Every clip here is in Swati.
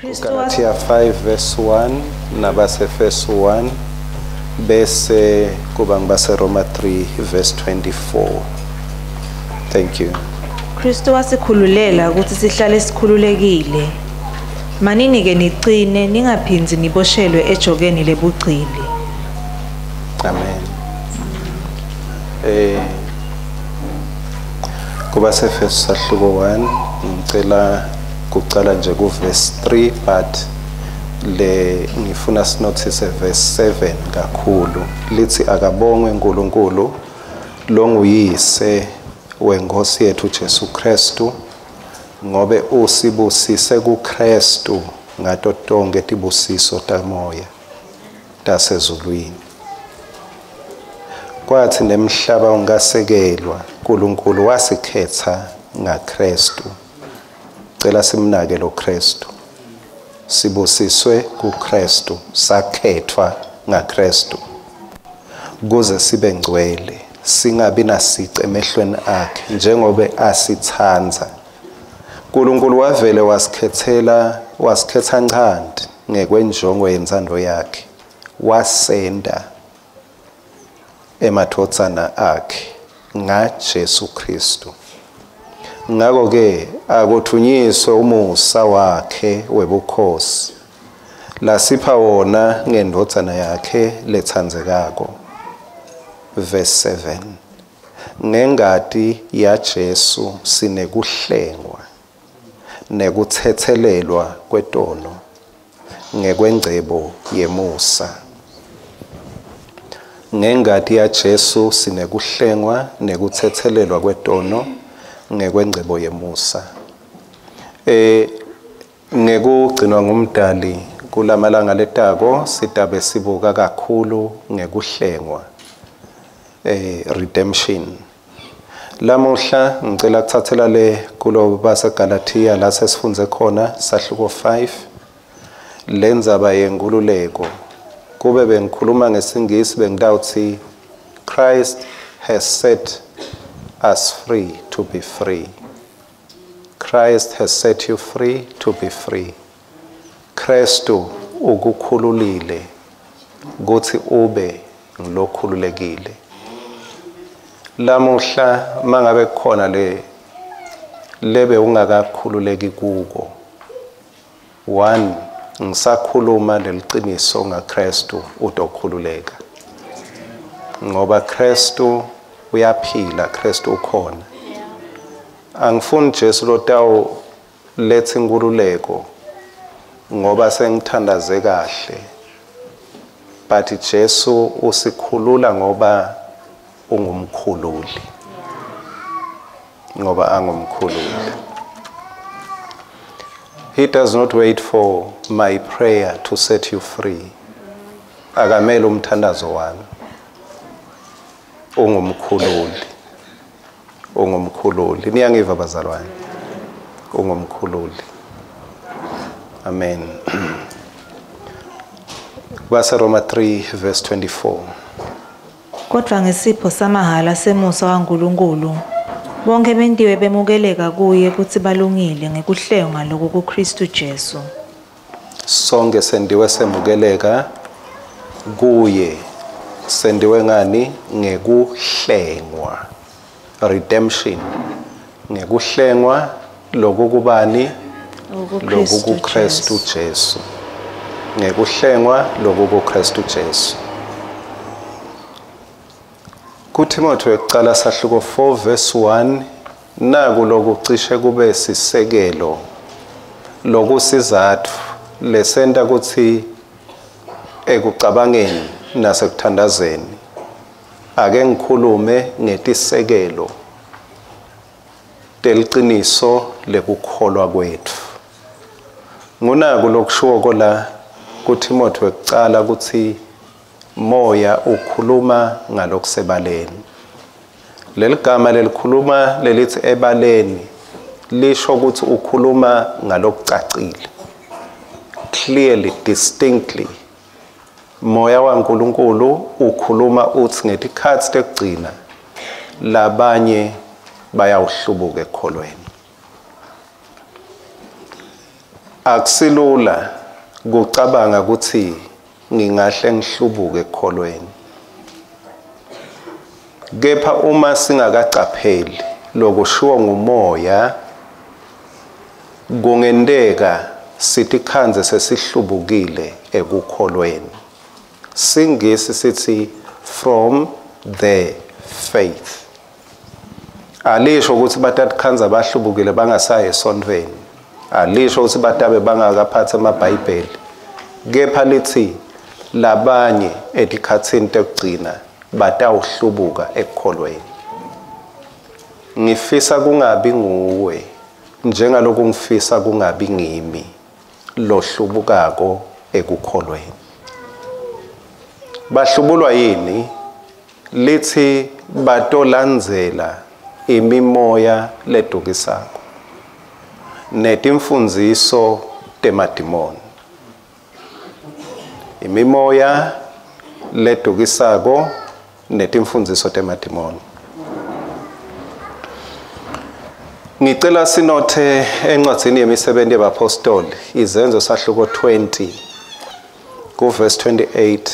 Galatia 5 verse 1 nabaseEfesu 1 bese kuba ngibaseRoma 3 verse 24. Thank you. Kristu wasikhululela ukuthi sihlale sikhululekile. Manini ke nicine ningaphindzi niboshelwe ejokeni lebugcili. Amen. KubaseEfesu sahluko 1 ngicela kucala nje ku verse 3, but le ngifuna sinothise verse 7 kakhulu. Lithi akabongwe uNkulunkulu longuyise wenkosi yethu Jesu Kristu, ngobe usibusise kuKristu ngato tonke tibusiso tamoya tasezulwini. Kwathi nemhlaba ungasekelwa, uNkulunkulu wasikhetha ngaKristu. Cela simnake lo Kristu. Sibusiswe kuKristu, sakhethwa ngaKristu kuze sibe ngcwele, singabi nasici emehlweni akhe, njengobe asithandza. uNkulunkulu wavele wasikhethela, wasikhetha nchanti ngekwenjongo yentsando yakhe, wasenda emadvodzana akhe ngaJesu Kristu. Ngakho ke akuthunyiswe umusa wakhe webukhosi lasipha wona ngendvodzana yakhe letsandzekako. Verse 7, ngengati yaJesu sinekuhlengwa nekuthethelelwa kwetono ngekwengcebo yemusa. Ngengati yaJesu sinekuhlengwa nekuthethelelwa kwetono ngekwengcebo yemusa. Ngekugcinwa ngumdali kulamalanga letako sitabe sibuka kakhulu ngekuhlengwa, redemption. Lamuhla ngicela kuthathela le kulo baseGalatia la sesifundze khona sahluko 5 lendzaba yenkululeko. Kube bengikhuluma ngesingisi bengitawuthi Christ has set us free to be free. Christ has set you free to be free. Kristu ukukhululile kuthi ube ngilokhululekile. Lamuhla mangabe kukhona le lebe ungakakhululeki kuko, one, ngisakhuluma leliciniso ngaKristu utokhululeka, ngoba Kristu uyaphila, Kristu ukhona. Angifuni Jesu lotawu letha inkululeko ngoba sengithandaze kahle, but Jesu usikhulula ngoba ungumkhululi, ngoba angumkhululi. He does not wait for my prayer to set you free. Akamele umthandazo wami. Ungumkhululi. Ungumkhululi. Niyangiva bazalwane? Ungumkhululi. Amen. Baseroma 3 verse 24. Kodwa ngesipho samahala semusa waNkulunkulu bonke bentiwe bemukeleka kuye kutsi balungile ngekuhlengwa loku kuKristu Jesu. Sonke sendiwe semukeleka kuye. Sendiwe ngani? Ngekuhlengwa. Redemption. Ngekuhlengwa lokukubani? LokukuKristu Jesu. Ngekuhlengwa lokukuKristu Jesu. KuTimothy wekucala sahluko 4 verse 1, naku lokucishe kube sisekelo lokusizatfu lesenta kutsi ekucabangeni nasekuthandazeni ake ngikhulume ngetisekelo teliciniso lekukholwa kwetfu. Ngunaku lokushiwo la kuTimothy wekucala kutsi moya ukhuluma ngalokusebaleni. Leligama lelikhuluma lelithi ebaleni lisho ukuthi ukhuluma ngalokucacile, clearly, distinctly. Moya waNkulunkulu ukhuluma uthi ngetikhatsi tekugcina labanye bayawuhlubuka ekukholweni. Akusilula kucabanga ukuthi ngingahle ngihlubuke ekukholweni. Kepha uma singakacapheli lokushiwo ngumoya, kungenteka sitikhandze sesihlubukile ekukholweni. Singisi sithi from the faith. Alisho ukuthi batatikhandza bahlubukile bangasayi esontfweni. Alisho ukuthi batabe bangakaphathi amabhayibheli. Kepha lithi labanye etikhatsini tekugcina batawuhlubuka ekukholweni. Ngifisa kungabi nguwe njengaloku ngifisa kungabi ngimi lohlubukako ekukholweni. Bahlubulwa yini? Lithi batolandzela imimoya ledukisako netimfundziso temadimoni. Imimoya ledukisako netimfundziso temadimoni. Ngicela sinothe encwadzini yemisebenzi yabapostoli, Izenzo sahluko 20 ku verse 28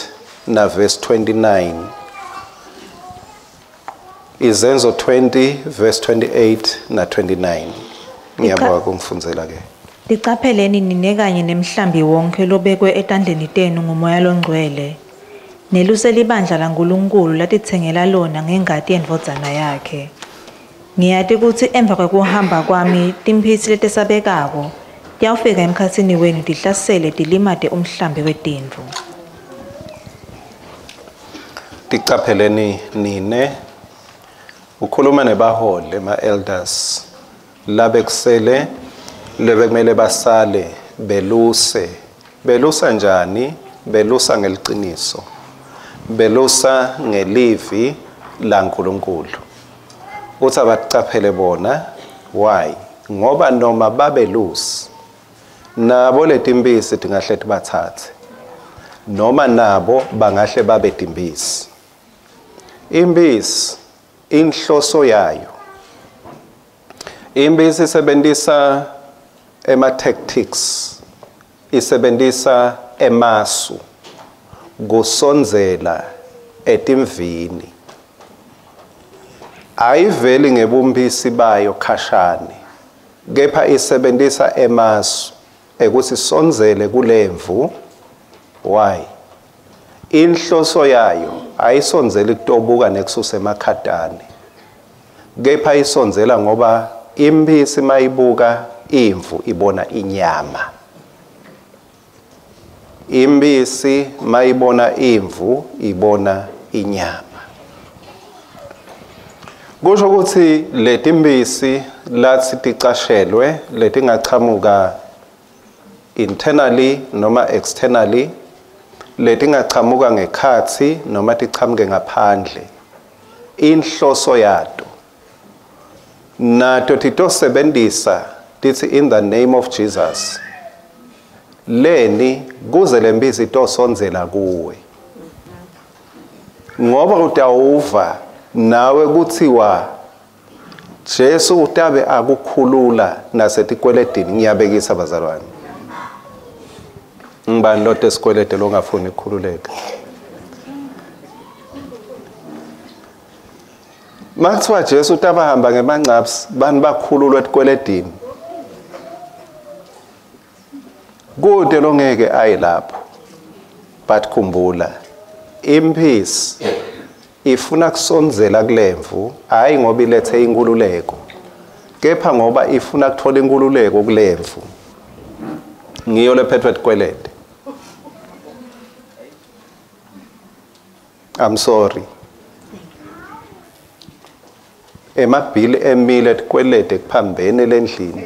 na verse 29. Izenzo 20 verse 28 na 29. Ngiyabonga kungifundzela ke. Licapheleni nine kanye nemhlambi wonke lobekwe etandleni tenu ngumoya longcwele. Neluse libandla laNkulunkulu latitsengela lona ngengati yendvodzana yakhe. Ngiyati kutsi emva kwekuhamba kwami timphisi letesabekako tiyawufika emkhatsini wenu tihlasele tilimate umhlambi wetimvu. Ticapheleni nine. Ukhuluma nebaholi ema-elders labekusele lebekumele basale beluse. Belusa njani? Belusa ngeliciniso. Belusa ngelivi laNkulunkulu. Uthi abacaphele bona. Why? Ngoba noma babelusi nabo letimpisi tingahle tibathathe, noma nabo bangahle babe timpisi. Impisi inhloso yayo, impisi isebenzisa ema tactics, isebenzisa emasu kusondzela etimvini. Ayiveli ngebumpisi bayo khashane, kepha isebenzisa emasu ekuthi sondzele kulemvu. Why? Inhloso yayo ayisondzeli kutobuka nekususa emakhatane, kepha isondzela ngoba impisi mayibuka imvu ibona inyama. Impisi mayibona imvu ibona inyama. Kusho ukuthi letimpisi lathi ticashelwe letingachamuka internally noma externally, letingachamuka ngekhatsi noma tichamuke ngaphandle, inhloso yato nato titosebenzisa tithi in the name of Jesus leni kuze lempisi itosondzela kuwe, ngoba utawuva nawe kuthiwa Jesu utabe akukhulula nasetikweletini. Ngiyabekisa bazalwane, ngibani lote esikwelede longafuni ukukhululeka? Makuthiwa Jesu utabahamba ngemangcaps, bani bakhululwa etikweletini? Kude longeke aye lapho. But khumbula, impisi ifuna kusondzela kulemvu, hayi ngoba ilethe inkululeko, kepha ngoba ifuna kuthola inkululeko kulemvu. Ngiyo lephethwe tikwelede. I'm sorry. Emabhili emile tikwelede kuphambene lendlini.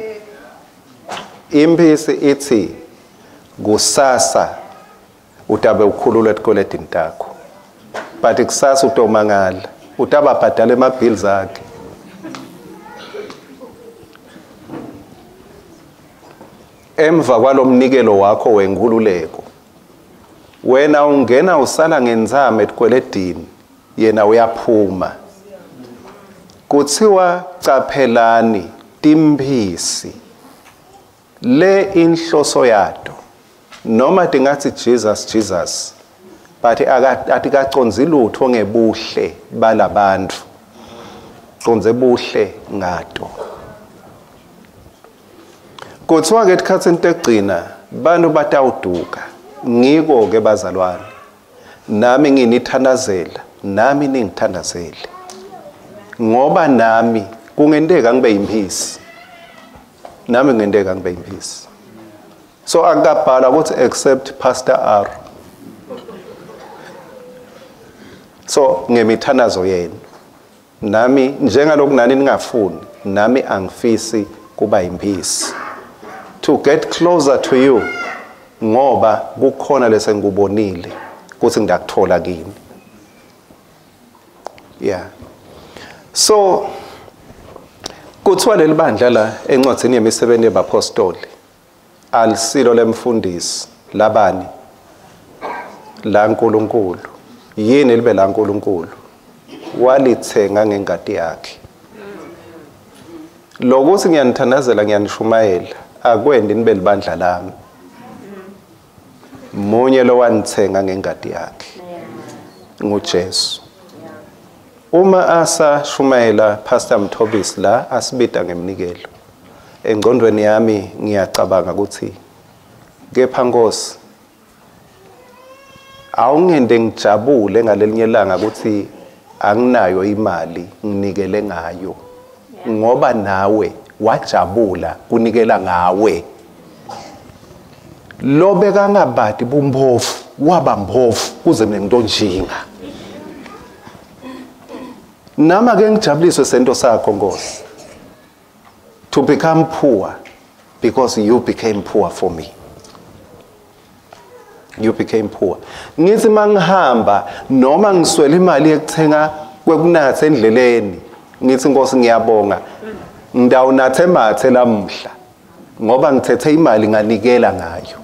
Impisi ithi kusasa utabe ukhululwa etikweletini takho, but kusasa utomangala utababhadala ema-bills akhe. Emva kwalomnikelo wakho wenkululeko, wena ungena usala ngenzama etikweletini, yena uyaphuma. Kuthiwa caphelani timphisi Le inhloso yato noma tingathi Jesus Jesus but atikaconzi lutho ngebuhle balabantu, conze buhle ngato. Kuthiwa ke esikhatsini tekugcina bantu batawuduka. Ngiko ke bazalwane, nami nginithandazela, nami ningithandazele, ngoba nami kungenteka ngibe yimphisi, nami kungenteka ngibe yimphisi. So akabhala ukuthi except Pastor R. So ngemithandazo yenu nami njengaloku nani ningafuni, nami angifisi kuba yimphisi, to get closer to you, ngoba kukhona lesengikubonile kuthi ngidakuthola kini. Yeah. So kuthiwa leli bandla la encwadini yemisebenzi yabapostoli alisilo lemfundisi labani la nkulunkulu. Yini libe la nkulunkulu? Walithenga ngengati yakhe. Lokuthi ngiyanithandazela ngiyanishumayela akwendi nibe libandla lami. Munye lo wanithenga ngengati yakhe, nguJesu. Uma asashumayela Pastor Mthobisi la asibida ngemnikelo, engqondweni yami ngiyacabanga ukuthi kepha Nkosi awungende ngijabule ngalelinye ilanga ukuthi anginayo imali nginikele ngayo, ngoba nawe wajabula kunikela ngawe. Lo bekangabadi bumphofu waba mphofu kuze mina ngitonjinga. Nama ke ngijabuliswe sento sakho Nkosi, to become poor because you became poor for me. You became poor. Ngithi mangihamba noma ngiswele imali yekuthenga kwekunatha endleleni, ngithi Nkosi ngiyabonga, ngidawunathe mathe lamhla ngoba ngithethe imali nganikela ngayo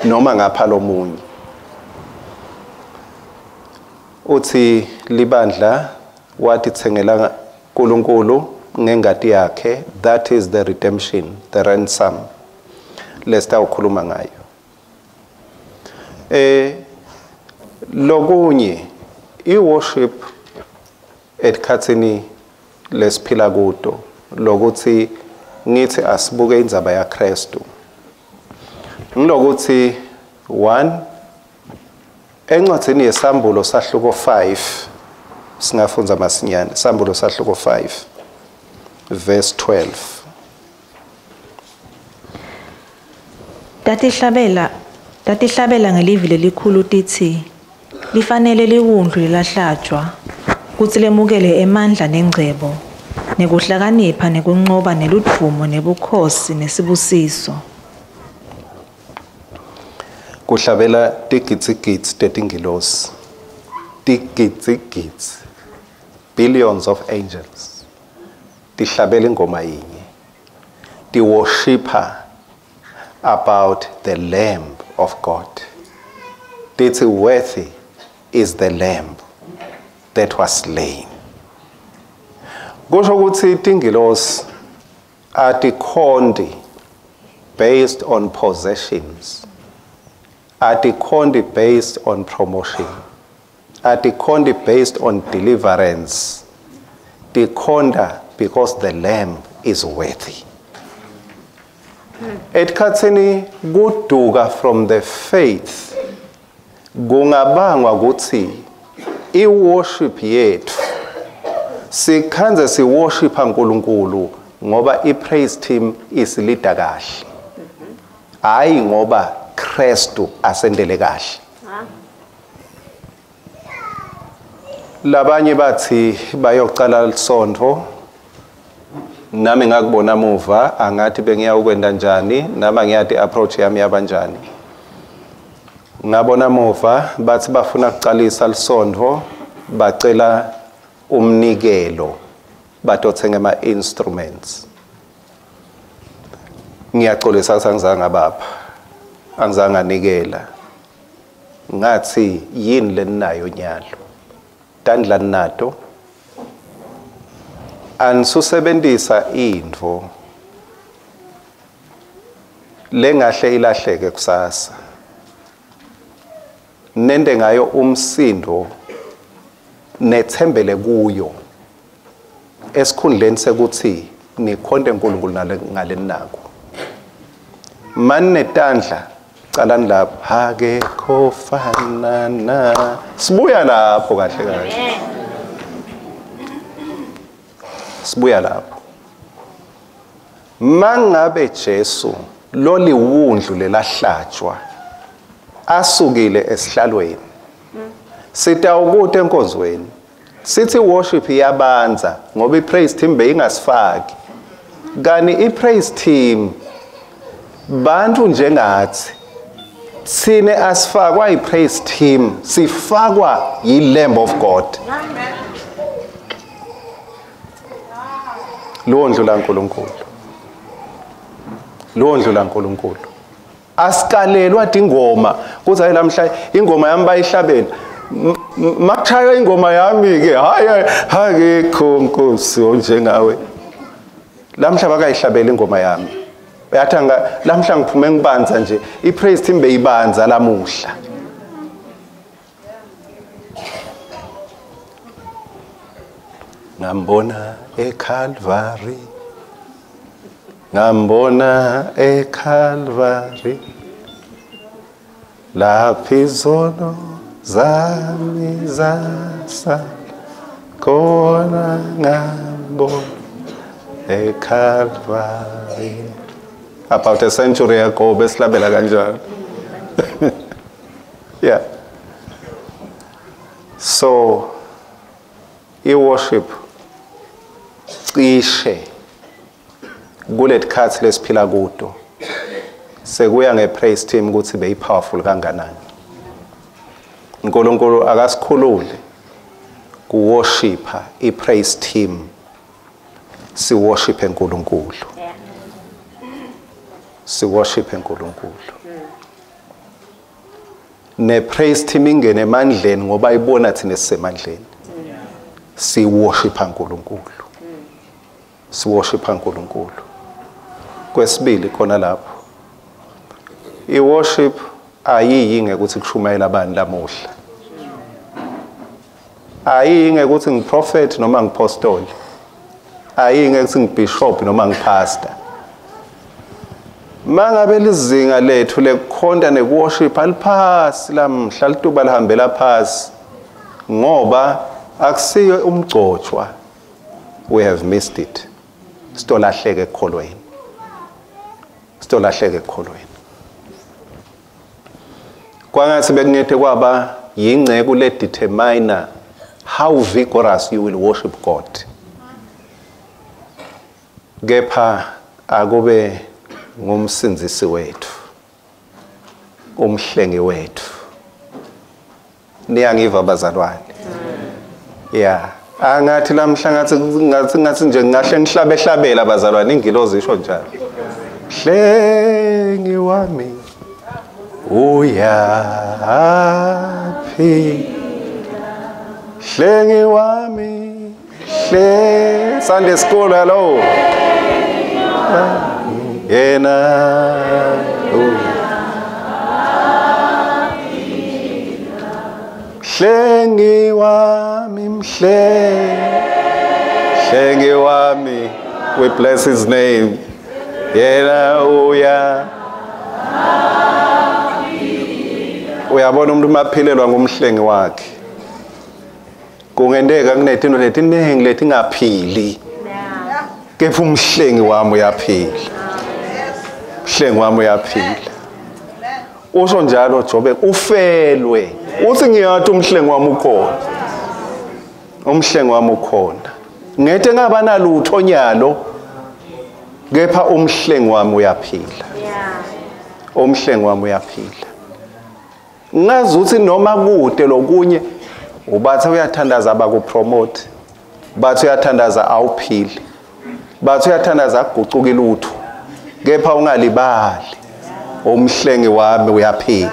noma ngapha lomunye. Uthi libandla wathithengela uNkulunkulu ngengati yakhe, that is the redemption, the ransom lesitawukhuluma ngayo. Lokunye i-worship esikhatsini lesiphila kuto, lokuthi ngithi asibuke indzaba yaKristu, ngilokuthi 1 encwadzini yesambulo sahluko 5, singafundza masinyane, sambulo sahluko 5 verse 12. Tatihlabela ngelivi lelikhulu titsi, lifanele liwundlu lelahlatjwa kutsi lemukele emandla nengcebo nekuhlakanipha nekuncoba neludvumo nebukhosi nesibusiso. Kuhlabela tigitsigitsi tetingilosi, tigitsigitsi, billions of angels, tihlabela ingoma yinye, tiworshipha about the Lamb of God. Tithi worthy is the Lamb that was slain. Kusho ukuthi tingilosi atikhonti based on possessions, atikhonti based on promotion, atikhonti based on deliverance, tikhonta because the Lamb is worthy. Etikhatsini kuduka from the faith kungabangwa ukuthi i-worship yethu sikhanze siworshipha uNkulunkulu ngoba i-praise team isilida kahle, hayi ngoba Kristu asendele kahle. Labanye bathi bayocala lisonto, nami ngakubona muva angathi bengiya ukwenda njani, nami ngiyati approach yami yabanjani. Ngabona muva bathi bafuna ukucalisa lisonto, bacela umnikelo batothenga ama instruments. Ngiyaxolisa angizange bapha, angizange anikela. Ngathi yini leninayo nyalo, tandla nato anisusebenzisa intfo Lengahle ilahleke kusasa. Nende ngayo umsindo nethembele kuyo esikhundleni sekuthi nikhonte uNkulunkulu ngalenako. Mane tandla calani lapha akekho fanana. Sibuya lapho kahle kahle. Sibuya lapho. Mangabe Jesu loliwundlu lelahlatshwa asukile esihlalweni, sitawukuta enkonzweni sithi worship iyabanza ngoba ipraise team beyingasifaki. Kani ipraise team bantu njengathi sine asifakwa ipraise team, sifakwa yiLamb of God. Londlu laNkulunkulu, londlu laNkulunkulu. Asikalelwa ingoma kuthi hayi lamhla ingoma yami bayihlabela, makushaywa ingoma yami ke hayi akekho Nkosi onjengawe. Lamhla bakayihlabela ingoma yami, uyathi lamhla ngiphume ngibanza nje, ipraise team beyibanza lamuhla. Ngambona eCalvary, ngambona eCalvary, lapho izono zami zasala khona, ngambona eCalvary. About a century ago besihlabela kanjalo. Yeah. So i-worship cishe kuletikhathi lesiphila kuto sekuya ngepraise team ukuthi beyi powerful kanganani. uNkulunkulu akasikhulule kuworshipa ipraise team, siworship uNkulunkulu. Siworship uNkulunkulu. Ne praise team ingene emandleni ngoba ibona thina sisemandleni. Siworship uNkulunkulu. Siworship uNkulunkulu. Kwesibili khona lapho, iworship ayiyi ngekuthi kushumayela abantu lamuhla. Ayiyi ngekuthi ngiprophet noma ngipostoli. Ayiyi ngekuthi ngibishop noma ngipastor. Mangabe lizinga lethu lekukhonta nekuworship aliphasi lamhla, lituba lihambela phasi ngoba akusiyo umgcotshwa. We have missed it. Sitolahleke ekukholweni. Sitolahleke ekukholweni. Kwangathi bekungethe kwaba yingceku le determine how vigorous you will worship God. Kepha akube ngumsindzisi wethu, umhlengi wethu. Niyangiva bazalwane? Yeah. Angathi lamhla ngathi nje ngingahle ngihlabe hlabela bazalwane, ingilozi isho njalo. Hlengi wami uyaphi, hlengi wami, hle Sunday school, hello. Yena hlengi wami, mhlengi wami, we bless his name. Yena uya. Uyabona umuntu maphilelwa ngumhlengi wakhe, kungenteka kunetinto letiningi letingaphili, kepha umhlengi wami uyaphila. Umhlengi wami uyaphila. Usho njalo Jobe, ufelwe uthi ngiyathi umhlengi wami ukhona, umhlengi wami ukhona. Ngete ngaba nalutho nyalo, kepha umhlengi wami uyaphila. Umhlengi wami uyaphila. Ngazi ukuthi noma kude lokunye ubathe uyathandaza abakupromote, bathi uyathandaza awuphili, bathi uyathandaza akugucuki lutho, kepha ungalibali umhlengi wami uyaphila.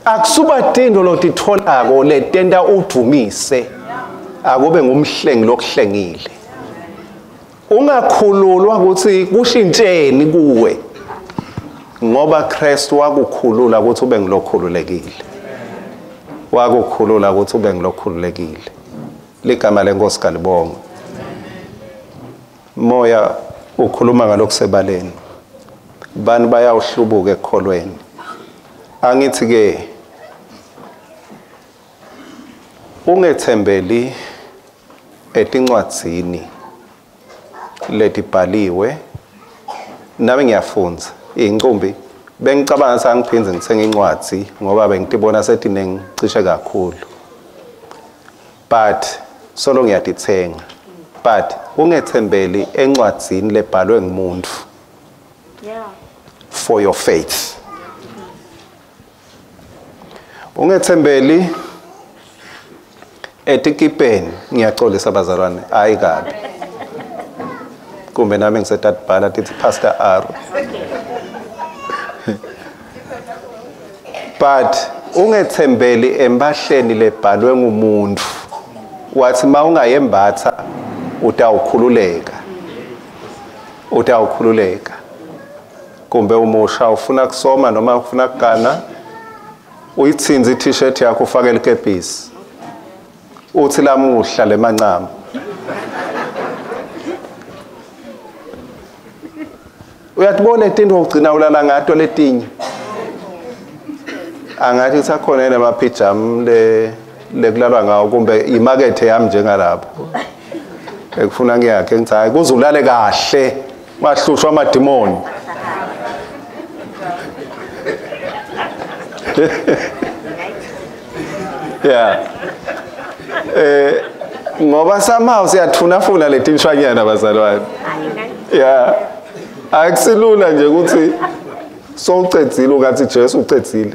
Akusuba tindo lotitholako letenta udumise, akube ngumhlengi lokuhlengile. Ungakhululwa ukuthi kushintsheni kuwe, ngoba Kristu wakukhulula ukuthi ube ngilokhululekile. Wakukhulula ukuthi ube ngilokhululekile. Ligama lenkosi kalibongwe. Moya ukhuluma ngalokusebaleni. Bani bayawuhlubuka ekukholweni. Angithi ke ungethembeli etincwadzini letibhaliwe. Nami ngiyafundza incumbi, bengicabanga sangiphindze ngithenga incwadzi ngoba bengitibona setinengi cishe kakhulu, but solo ngiyatithenga. But ungethembeli encwadzini lebhalwe ngumuntu. For your faith. Ungethembeli etikipeni. Ngiyaxolisa bazalwane, hayi kabi. Kumbe nami ngisetatibhala tithi Pastor R. But ungethembeli empahleni lebhalwe ngumuntu. Wathi mawungayembatha utawukhululeka. Utawukhululeka. Kumbe umusha ufuna kusoma noma ufuna kugana, uyithinze i-t-shirt yakho ufake likepisi. Uthi lamuhla lemancama. Uyatibona itinto ugcina ulala ngato letinye. Angathi sakhona namapijama le lekulalwa ngawo, kumbe imakethe yami njengalapho. Ekufuna ngiyakhe ngithi hayi kuze ulale kahle, mahlushwa amadimoni. Yeah. Ngoba somehow siyathunafuna letinshwanyana bazalwane. Yeah. Akusilula nje ukuthi sowucedzile ukathi Jesu ucedzile.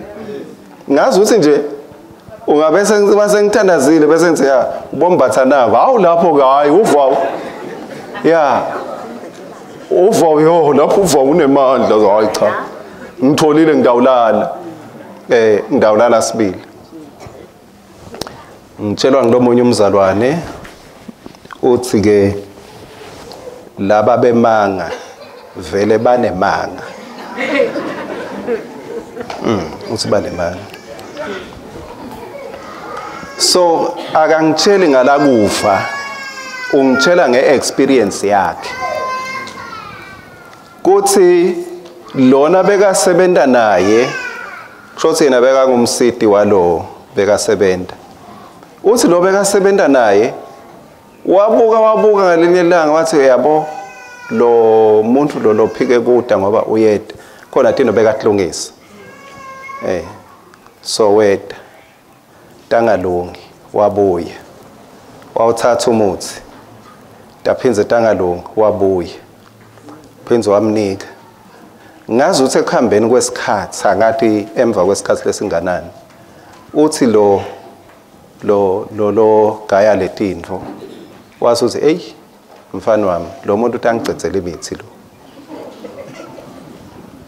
Ngazi ukuthi nje ungabe sengithandazile bese ngithi ya ubombatha nako. Hawu lapho ke hayi uva. Yeah. Uva yo lapho uva unemandla, hayi cha. Ngitholile ngidawulala. Ngidawulala sibili. Ngitshelwa ngilomunye umzalwane uthi ke laba bemanga vele banemanga. Uthi banemanga. So akangitsheli ngalakufa, ungitshela ngeexperience yakhe. Kuthi lona bekasebenza naye, kusho yena bekangumsiti walo bekasebenza. Uthi lo bekasebenza naye wabuka ngalinye ilanga wathi yabo lo muntu lo lophike kuda ngoba uyeda khona tino bekahlungisa. So weda tangalungi wabuya wawuthatha umuthi taphinze tangalungi wabuya phinze wamnika. Ngazi uthi ekuhambeni kwesikhathi angathi emva kwesikhathi lesinganani uthi lo lo lo lo gaya letinto wathi uthi hey mfana wami lo muntu utangicedzela imithi lo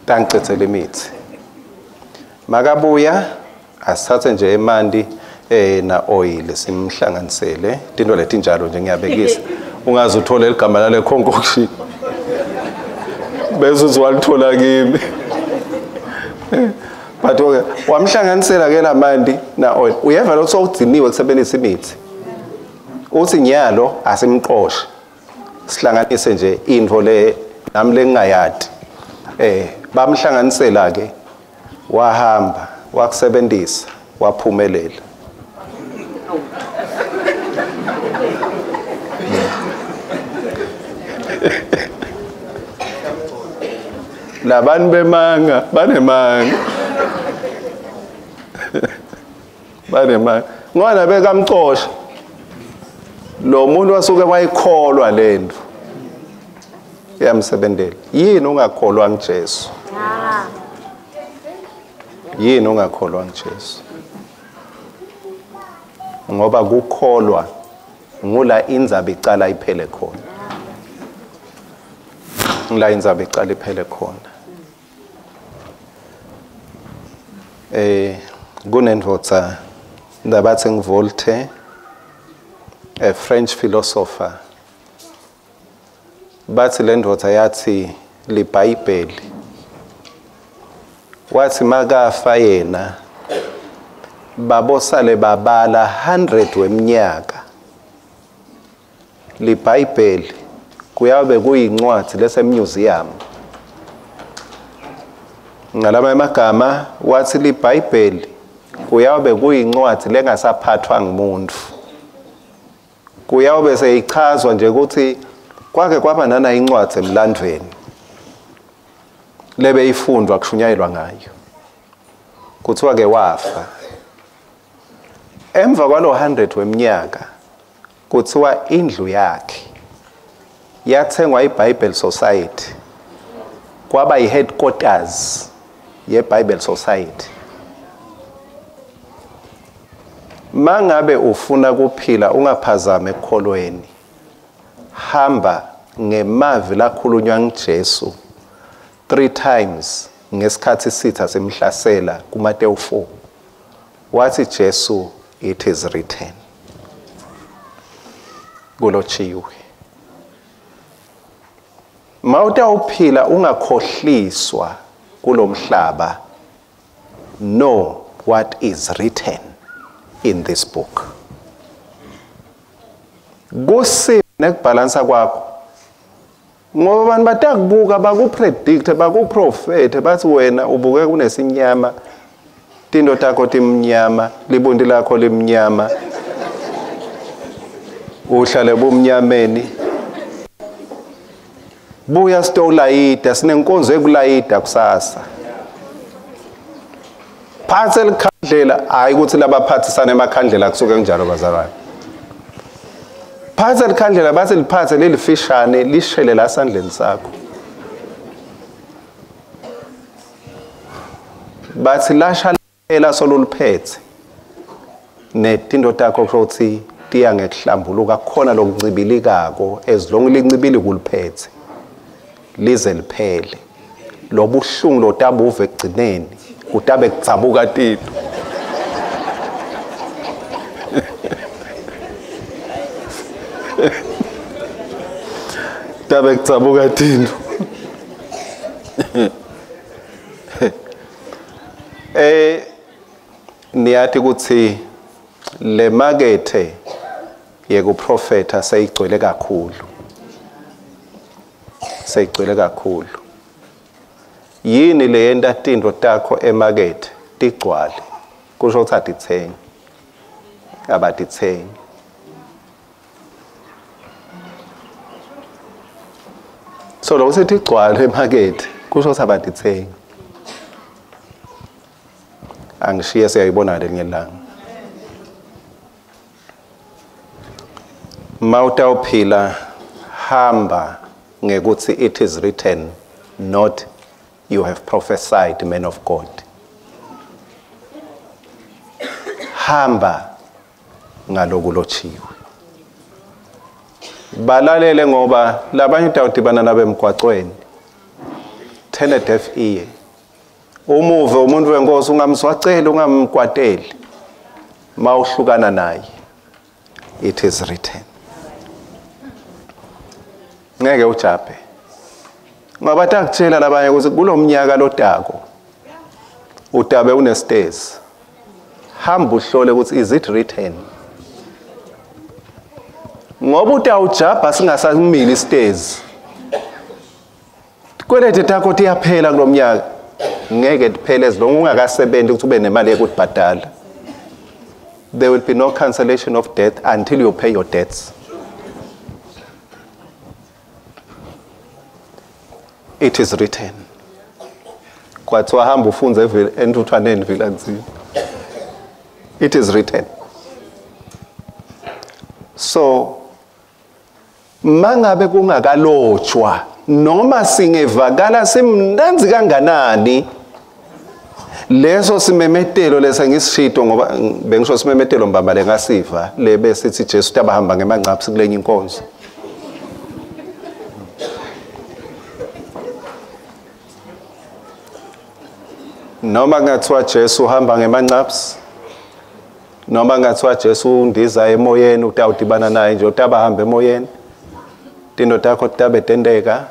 tangicedzela imithi makabuya asithathe nje emanti na oil simhlanganisele tinto letinjalo nje ngiyabekisa ungaze uthole igama lale concoction bese uzwalithola kimi. But okay wamhlanganisela ke lamanti na oil uyeva lo sokugciniwe kusebenzisa imithi uthi nyalo asimqoshe sihlanganise nje into le nami lengingayadi. Bamhlanganisela ke wahamba wakusebenzisa waphumelela. Labantu bemanga banemanga banemanga ngoba bekamcosha lo muntu wasuke wayikholwa lento iyamsebenzela. Yini ungakholwa nguJesu? Yini ungakholwa nguJesu? Ngoba kukholwa ngula indzaba icala iphele khona. Ngula indzaba icala iphele khona. Kunendvodza ndabathi ngiVoltaire, a French philosopher. Bathi le ndoda yathi liBhayibheli. Wathi makafa yena babosale babala 100 weminyaka. LiBhayibheli kuyabe kuyincwadi lesemuseum. Ngalama emagama wathi liBhayibheli kuyabe kuyincwadi lengasaphathwa ngumuntu. Kuyabe seyichazwa nje ukuthi kwake kwaba nana incwadi emlandweni lebe ifundwa kushunyayelwa ngayo. Kuthiwa ke wafa. Emva kwalo 100 weminyaka kuthiwa indlu yakhe yathengwa iBible Society, kwaba i-headquarters ye-Bible Society. Mangabe ufuna kuphila ungaphazami ekukholweni, hamba ngemavi lakhulunywa nguJesu 3 times ngesikhathi sitha simhlasela kuMateyu 4. Wathi Jesu, it is written. Kulotshiwe. Mawutawuphila ungakhohliswa kulomhlaba, know what is written in this book. Kusi nekubhalansa kwakho, ngoba abantu batakubuka bakupredict bakuprofete bathi wena ubuke kunesinyama, tinto takho timnyama, libundi lakho limnyama, uhlale bumnyameni. Buya sitolayida, sinenkonzo ekulayida kusasa. Phathe likhandlela, hayi ukuthi labaphathisana emakhandlela kusuke kunjalo bazalwane. Phathe likhandlela, bathi liphathe lelifishane lishele la sandleni sakho. Bathi lasha ela soluliphethe netinto takho ukuthi tiya ngekuhlambuluka, khona lokuncibilikako as long lincibili kuliphethe lize liphele. Lobuhlungu lotabuve ekugcineni kutabe kudzabuka tito. Tabe kudzabuka tito. Niyathi ukuthi le makethe yekuprofetha seyigcwele kakhulu. Seyigcwele kakhulu. Yini le yenta tinto takho emakethe tigcwale? Kusho ukuthi atithengi. Abatithengi. So lo sithi igcwale emakethe kusho ukuthi abatithengi. Angishiye siyayibona lelinye ilanga. Mawutawuphila hamba ngekuthi it is written, not you have prophesied, man of God. Hamba ngalokulotshiwe. Balalele ngoba labanye utawudibana nabo emgwaqweni. Turn a deaf ear. Umuve umuntu wenkosi ungamswaceli ungamkwateli. Mawuhlukana naye. It is written. Ngeke ujabhe. Ngoba takutshela labanye ukuthi kulomnyaka lodako udabe unestezi. Hamba uhlole ukuthi is it written. Ngoba utawujabha singasamili istezi. Kwelete takho tiyaphela kulomnyaka. Ngeke kuphele as long ungakasebenzi ukuthi ube nemali yokubhadala. There will be no cancellation of debt until you pay your debts. It is written. Kwathiwa hamba ufunze entuthwaneni vilanzini. It is written. So mangabe kungakalotshwa noma singevakala simnanzi kanganani leso simemetelo lesa ngisishito, ngoba bengisho simemetelo mbamba lengasiva le besithi Jesu tabahamba ngemangcapsi kulenye inkonzo. Noma kungathiwa Jesu uhamba ngemangcapsi, noma kungathiwa Jesu undiza emoyeni utawudibana naye nje utabahamba emoyeni, Tinto takho tabe tenteka.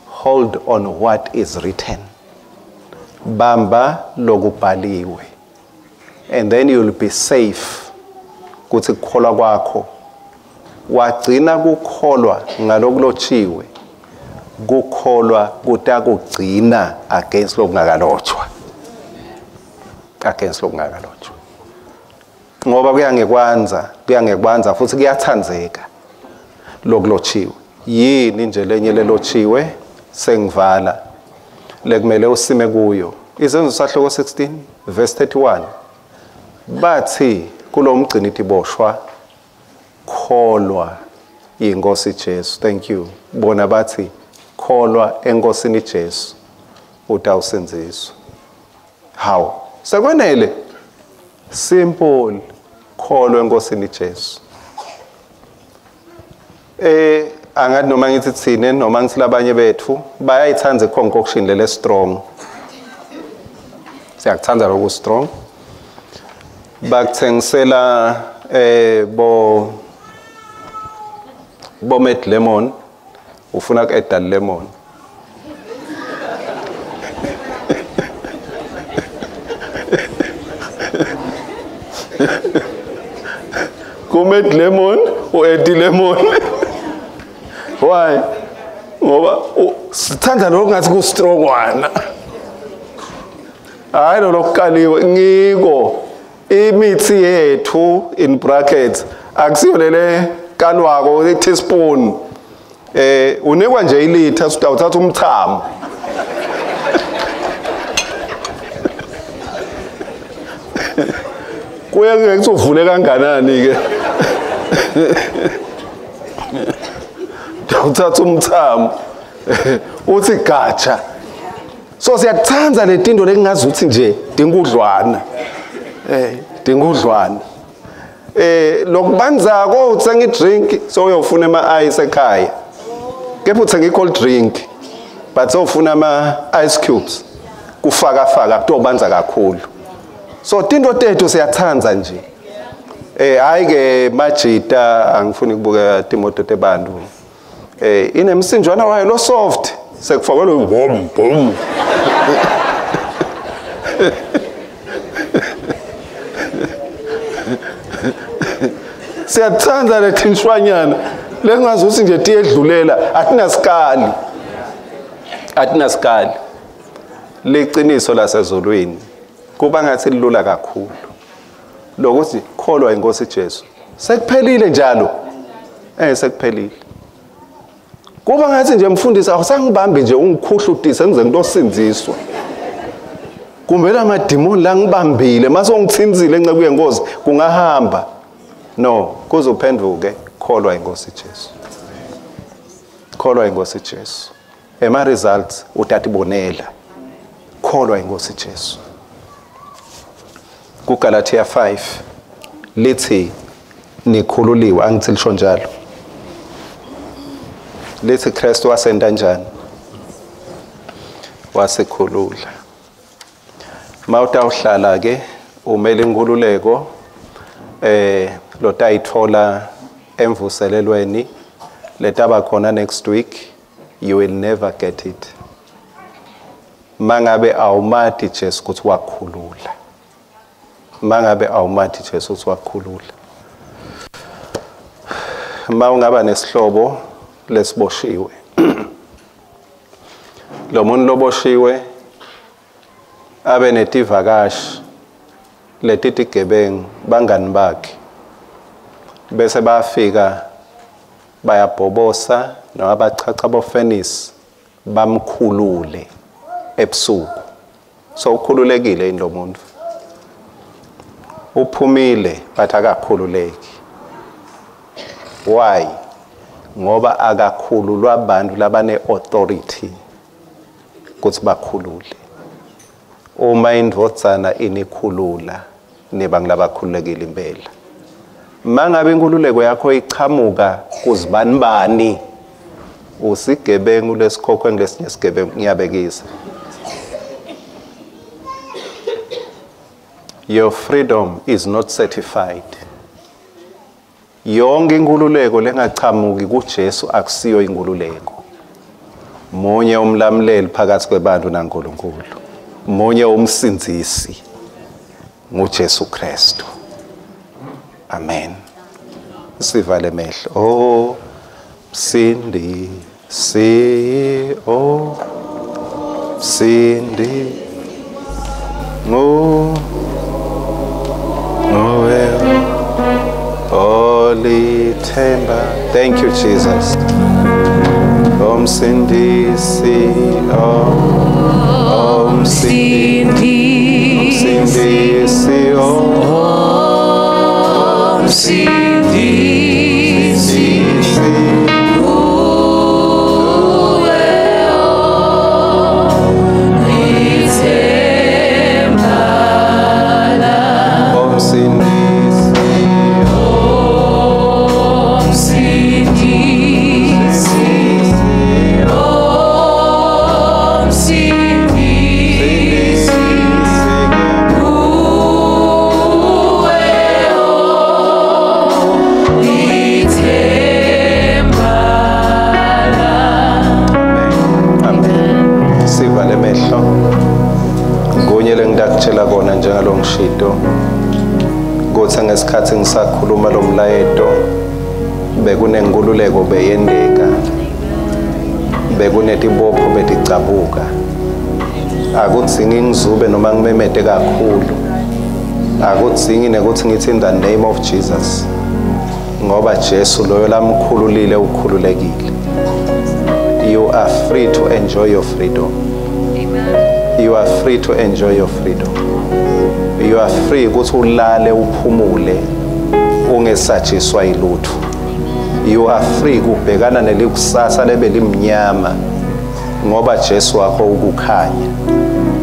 Hold on what is written. Bamba lokubhaliwe. And then you'll be safe. Kuthi kukholwa kwakho wagcina kukholwa ngalokulotshiwe, kukholwa kutakugcina against lokungakalotshwa, against lokungakalotshwa. Ngoba kuyangekwanza, kuyangekwanza futhi kuyathanzeka lokulotshiwe. Yini nje lenye lelotshiwe sengivala lekumele usime kuyo? Izenzo sahluko 16 verse 31 bathi kulomgcini tiboshwa, kholwa inkosi Jesu. Thank you. Bona bathi kholwa enkosini Jesu utawusindziswa. How? Sekwenele. Simple, kholwa enkosini Jesu. Angathi noma ngithi thine noma ngithi labanye bethu bayayithanda i-concoction lele strong. Siyakuthanda lokhu strong. Bakuthengisela bo med lemon, ufuna ku-add lemon. Ku-med lemon u-add lemon. Why? Ngoba sithanda lokhu ngathi ku-strong wana. Hayi lo lokukaliwe ngiko imithi yethu in brackets akusiyo lele kalwako i-teaspoon. Unikwa nje ilitha uthatha umthamo. Kuye ngeke uvule kanganani ke. Uthatha umthamo uthi gatsha. So siyakuthanda letinto lekungazuthi nje dingudlwana. Dingudlwana. Lokubanzako uthenga i-drink so uyofuna ama ice ekhaya. Kepha uthenga i-cold drink but sowufuna ama ice cubes. Kufaka faka kutobanza kakhulu. So tinto tethu siyathanda nje. Hayi ke majita angifuni ukubuka timoto tebantu. Inemsinjwana wayo lo soft sekufakwe lo bom bom. Siyathanda letinshwanyana lengazuthi nje tiyedlulela atinasikali. Atinasikali. Liqiniso lasezulwini kuba ngathi lilula kakhulu. Lokuthi kholwa inkosi Jesu. Sekuphelile njalo. Sekuphelile. Kuba ngathi nje mfundisi awusangibambi nje ungikhuhlutise ngize ngitosindziswa. Kumbe lamadimoni la ngibambile mase ungithinzile enceku yenkosi kungahamba. No, kuzophenduke kholwa inkosi Jesu. Kholwa inkosi Jesu. Ema results utatibonela. Kholwa inkosi Jesu. KuGalatia 5 lithi nikhululiwe, angithi lisho njalo. Lithi Kristu wasenda njani? Wasikhulula. Mawutawuhlala ke umele inkululeko lotayithola emvuselelweni letaba khona next week, you will never get it. Mangabe awumati Jesu ukuthi wakhulula. Mangabe awumati Jesu ukuthi wakhulula. Mawungaba nesihlobo lesiboshiwe. Lo muntu loboshiwe abe netivakashi letitigebengu bangani bakhe. Bese bayafika bayabhobosa noma bachacha bofenisi bamkhulule ebusuku. So ukhululekile yini lo muntu? Uphumile but akakhululeki. Why? Ngoba akakhululwa abantu labane authority ukuthi bakhulule. Uma indvodzana inikhulula niba ngilabakhululekile impela. Mangabe inkululeko yakho ichamuka kuzibanibani usigebengu lesikhokhwe ngesinye sigebengu, ngiyabekisa. Your freedom is not certified. Yonke inkululeko lengachamuki kuJesu akusiyo inkululeko. Munye umlamuleli phakathi kwebantu naNkulunkulu. Munye umsindzisi nguJesu Kristu. Amen. Sivale mehlo. Oh Sindi si oh Sindi ngo Noel Olithemba. Thank you, Jesus. Om Sindisi, Om Sindisi, Om Sindisi, Om Sindisi, Om Sindisi, Om Sindisi, Om Sindisi, Amen. Sivale mehlo. Kunye lengidakutshela kona njengalongishito. Kutsi ngesikhathi ngisakhuluma lo mlayeto bekunenkululeko beyendeka. Bekunetibopho beticabuka. Akudzingi ngizube noma ngimemete kakhulu. Akudzingi nekuthi ngithi in the name of Jesus. Ngoba Jesu loyo lamkhululile ukhululekile. You are free to enjoy your freedom. Amen. You are free to enjoy your freedom. You are free ukuthi ulale uphumule ungesatshiswa yilutho. You are free kubhekana nelikusasa lebe limnyama ngoba Jesu wakho ukukhanya.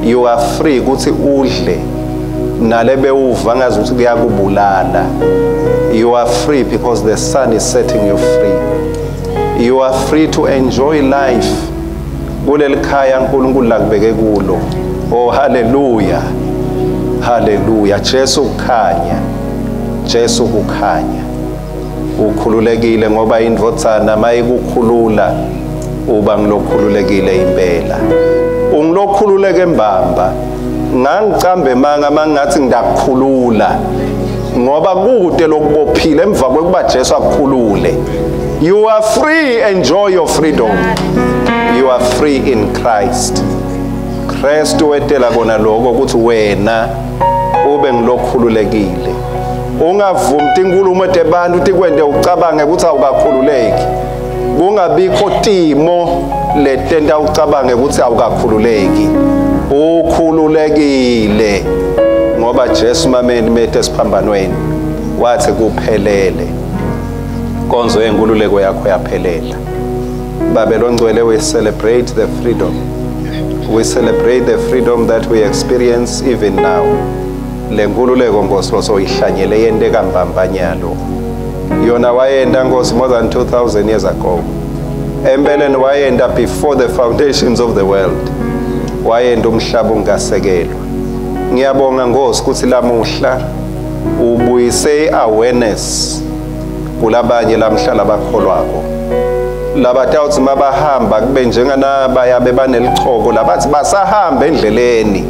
You are free ukuthi udle nalebe uva ngazi ukuthi kuyakubulala. You are free because the sun is setting you free. You are free to enjoy life. Kuleli khaya uNkulunkulu lakubeke kulo. Oh hallelujah. Hallelujah. Jesu kukhanya. Jesu kukhanya. Ukhululekile ngoba indvodzana mayikukhulula uba ngilokhululekile impela. Ungilokhululeke mbamba. Ngangicambe manga mangathi ngidakukhulula. Ngoba kude lokubophile emva kwekuba Jesu akukhulule. You are free, enjoy your freedom. You are free in Christ. Kristu wetela kona lokho ukuthi wena ube ngilokhululekile. Ungavumi tinkulumo tebantu tikwente ucabange ukuthi awukakhululeki. Kungabikho timo letenta ucabange ukuthi awukakhululeki. Ukhululekile ngoba Jesu mameni methe esiphambanweni wathi kuphelele. Konzo yenkululeko yakho yaphelela. Babe longcwele, we celebrate the freedom. We celebrate the freedom that we experience even now. Le nkululeko Nkosi losoyihlanyele yenteka mbambanyalo. Yona wayenda Nkosi more than 2000 years ago. Empeleni wayenda before the foundations of the world. Wayenda umhlaba ungasekelwa. Ngiyabonga Nkosi ukuthi lamuhla ubuyise awareness kulabanye lamhla labakholwako. Labatawuthi mabahamba kube njenganabaya bebanelichoko labathi basahamba endleleni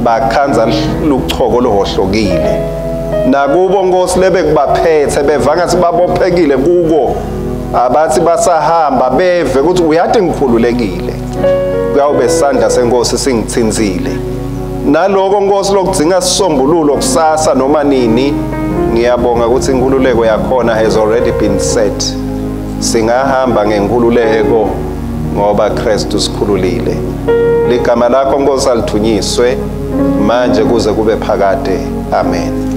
bakhanza luchoko lohohlokile. Nakubo Nkosi lebe kubaphethe beva ngathi babophekile kuko abathi basahamba beve ukuthi uyathi ngikhululekile. Kuyawube sandla senkosi singithinzile. Naloko Nkosi lokudzinga sisombululo kusasa noma nini, ngiyabonga ukuthi inkululeko yakhona has already been set. Singahamba ngenkululeko ngoba Kristu sikhululile. Ligama lakho Nkosi alithunyiswe manje kuze kube phakade. Amen.